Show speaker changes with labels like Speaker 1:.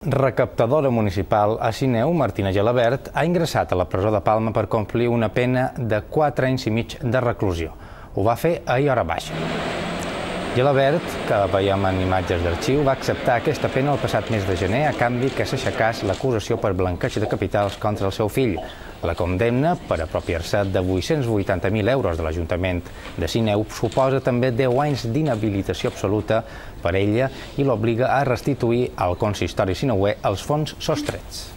Speaker 1: Recaptadora municipal a Sineu, Martina Gelabert, ha ingressat a la presó de Palma per complir una pena de 4 anys i mig de reclusió. Ho va fer ahir a hora baixa. Gelabert, que veiem en imatges d'arxiu, va acceptar aquesta pena el passat mes de gener a canvi que s'aixecàs l'acusació per blanqueig de capitals contra el seu fill. La condemna per apropiar-se de 880.000 euros de l'Ajuntament de Sineu suposa també 10 anys d'inhabilitació absoluta per ella i l'obliga a restituir al consistori sineuer els fons sostrets.